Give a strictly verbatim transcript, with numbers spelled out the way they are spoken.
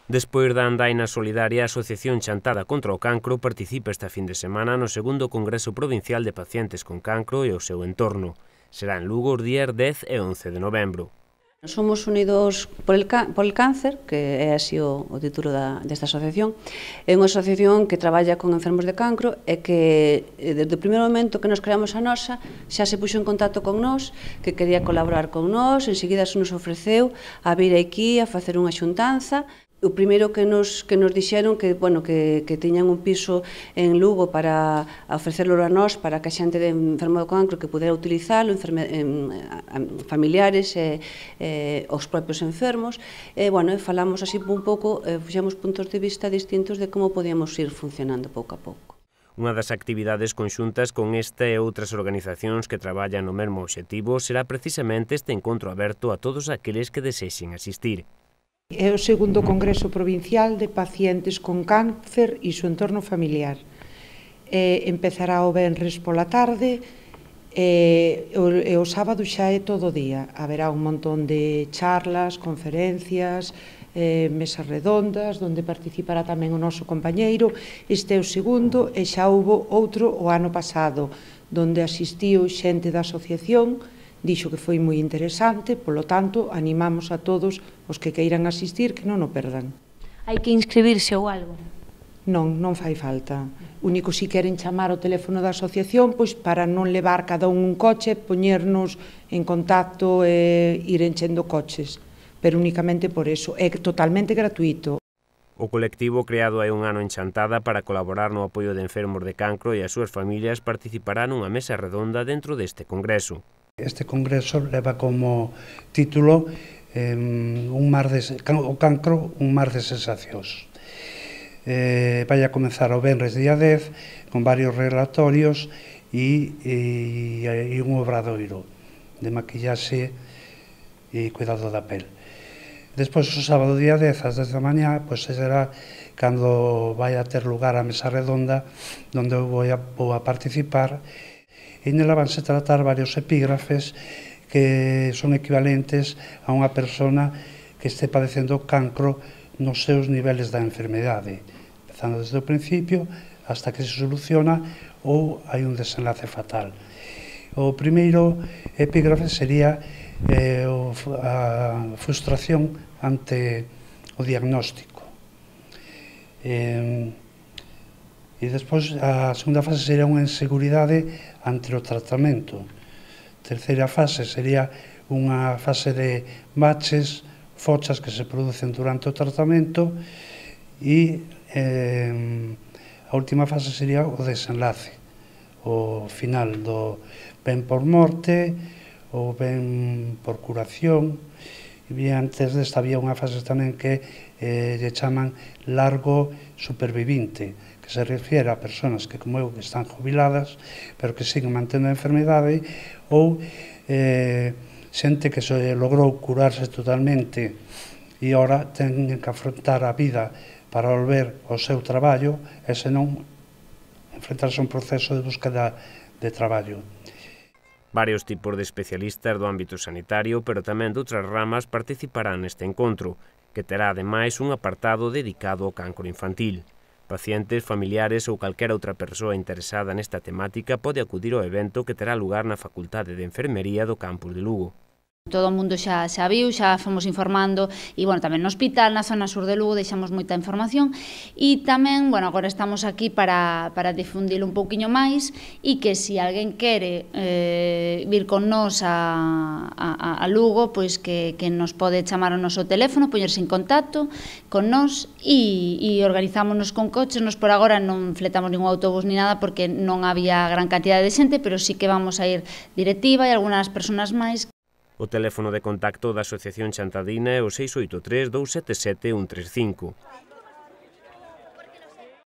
Despois da andaina solidaria, a Asociación Chantada contra o Cancro participa esta fin de semana no segundo Congreso Provincial de Pacientes con Cancro e o seu entorno. Será en Lugo os días dez e once de novembro. Somos Unidos por el, por el Cáncer, que é así o, o título da, desta asociación. É unha asociación que traballa con enfermos de cancro e que desde o primeiro momento que nos creamos a nosa xa se puxo en contacto con nós, que quería colaborar con nós, enseguida se nos ofreceu a vir aquí a facer unha xuntanza. O primeiro que nos, que nos dixeron que, bueno, que, que tiñan un piso en Lugo para ofrecerlo a nós, para que a xente de enfermo do cancro que pudera utilizalo, enferme, en, familiares e eh, os propios enfermos. E, bueno, falamos así un pouco, eh, fixemos puntos de vista distintos de como podíamos ir funcionando pouco a pouco. Unha das actividades conxuntas con esta e outras organizacións que traballan no mesmo obxectivo será precisamente este encontro aberto a todos aqueles que desexen asistir. É o segundo Congreso Provincial de Pacientes con Cáncer e su entorno familiar. Eh, empezará o venres pola tarde e o, e o sábado xa é todo o día. Haberá un montón de charlas, conferencias, eh, mesas redondas, onde participará tamén o noso compañeiro. Este é o segundo e xa houbo outro o ano pasado, onde asistiu xente da asociación. Dixo que foi moi interesante, polo tanto, animamos a todos os que queiran asistir que non o perdan. Hai que inscribirse ou algo? Non, non fai falta. Único si queren chamar o teléfono da asociación, pois para non levar cada un un coche, poñernos en contacto e ir enchendo coches, pero únicamente por eso. É totalmente gratuito. O colectivo creado hai un ano en Chantada para colaborar no apoio de enfermos de cancro e as súas familias participarán nunha mesa redonda dentro deste congreso. Este congreso leva como título eh, un mar de, o cancro, un mar de sensacións. Eh, vai a comenzar o venres día dez con varios relatorios e, e, e un obradoiro de maquillaxe e cuidado da pel. Despois, o sábado día dez, ás dez da mañá, pois será cando vai a ter lugar a mesa redonda onde eu vou a, vou a participar. E nela vanse tratar varios epígrafes que son equivalentes a unha persona que este padecendo cancro nos seus niveles da enfermedade, empezando desde o principio hasta que se soluciona ou hai un desenlace fatal. O primeiro epígrafe sería eh, a frustración ante o diagnóstico. Eh, E despois a segunda fase sería unha inseguridade ante o tratamento. A terceira fase sería unha fase de baches, fochas que se producen durante o tratamento e eh, a última fase sería o desenlace, o final do ben por morte ou ben por curación. E antes desta había unha fase tamén que eh, lle chaman largo supervivinte, que se refiere a persoas que, como eu, que están jubiladas, pero que siguen mantendo a enfermedade, ou eh, xente que se logrou curarse totalmente e ora ten que afrontar a vida para volver ao seu traballo e senón enfrentarse a un proceso de búsqueda de traballo. Varios tipos de especialistas do ámbito sanitario, pero tamén de outras ramas, participarán neste encontro, que terá ademais un apartado dedicado ao cancro infantil. Pacientes, familiares ou calquera outra persoa interesada nesta temática pode acudir ao evento que terá lugar na Facultade de Enfermería do campus de Lugo. Todo o mundo xa, xa viu, xa fomos informando e, bueno, tamén no hospital, na zona sur de Lugo, deixamos moita información e tamén, bueno, agora estamos aquí para, para difundilo un pouquiño máis e que se alguén quere eh, vir con nós a, a, a Lugo, pois que, que nos pode chamar o noso teléfono, poñerse en contacto con nós e, e organizámonos con coches. Nos por agora non fletamos ningún autobús ni nada porque non había gran cantidad de xente, pero sí que vamos a ir directiva e algunhas persoas máis. O teléfono de contacto da Asociación Chantadina é o seis oito tres, dous sete sete, un tres cinco.